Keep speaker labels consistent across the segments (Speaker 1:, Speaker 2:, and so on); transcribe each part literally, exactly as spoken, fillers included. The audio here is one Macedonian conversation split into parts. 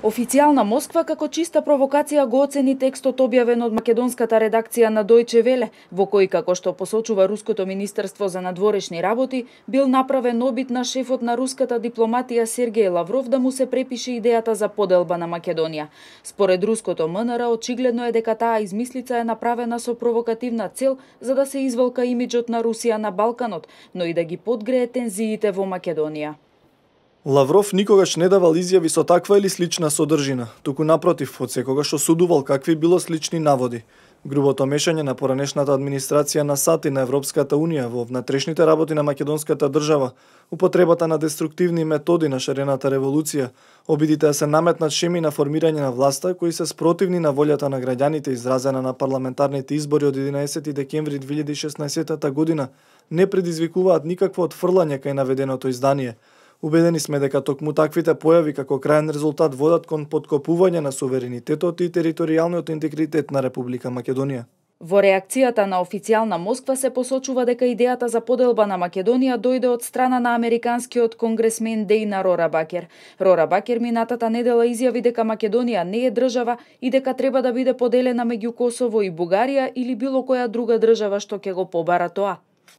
Speaker 1: Официјална Москва како чиста провокација го оцени текстот објавен од македонската редакција на Дојче Веле, во кој, како што посочува Руското министерство за надворешни работи, бил направен обид на шефот на руската дипломатија Сергеј Лавров да му се препише идејата за поделба на Македонија. Според руското ем ен ер, очигледно е дека таа измислица е направена со провокативна цел за да се извалка имиџот на Русија на Балканот, но и да ги подгрее тензиите во Македонија.
Speaker 2: Лавров никогаш не давал изјави со таква или слична содржина, туку напротив, одсекогаш осудувал какви било слични наводи. Грубото мешање на поранешната администрација на САД и на Европската Унија во внатрешните работи на македонската држава, употребата на деструктивни методи на шарената револуција, обидите да се наметнат шеми на формирање на власта кои се спротивни на волјата на граѓаните изразена на парламентарните избори од единаесети декември две илјади и шеснаесетта година, не предизвикуваат никакво отфрлање кај наведеното издание. Убедени сме дека токму таквите појави како крајен резултат водат кон поткопување на суверенитетот и територијалниот интегритет на Република Македонија.
Speaker 1: Во реакцијата на официјална Москва се посочува дека идејата за поделба на Македонија дојде од страна на американскиот конгресмен Дејна Рорабакер. Рорабакер минатата недела изјави дека Македонија не е држава и дека треба да биде поделена меѓу Косово и Бугарија или било која друга држава што ќе го побара тоа.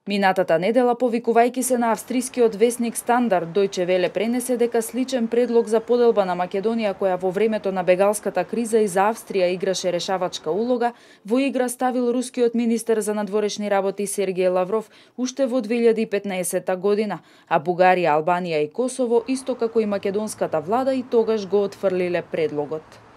Speaker 1: Минатата недела, повикувајќи се на австрискиот весник Стандард, Дојче Веле пренесе дека сличен предлог за поделба на Македонија, која во времето на бегалската криза и за Австрија играше решавачка улога, во игра ставил рускиот министер за надворешни работи Сергеј Лавров уште во две илјади и петнаесетта година, а Бугарија, Албанија и Косово, исто како и македонската влада, и тогаш го отфрлиле предлогот.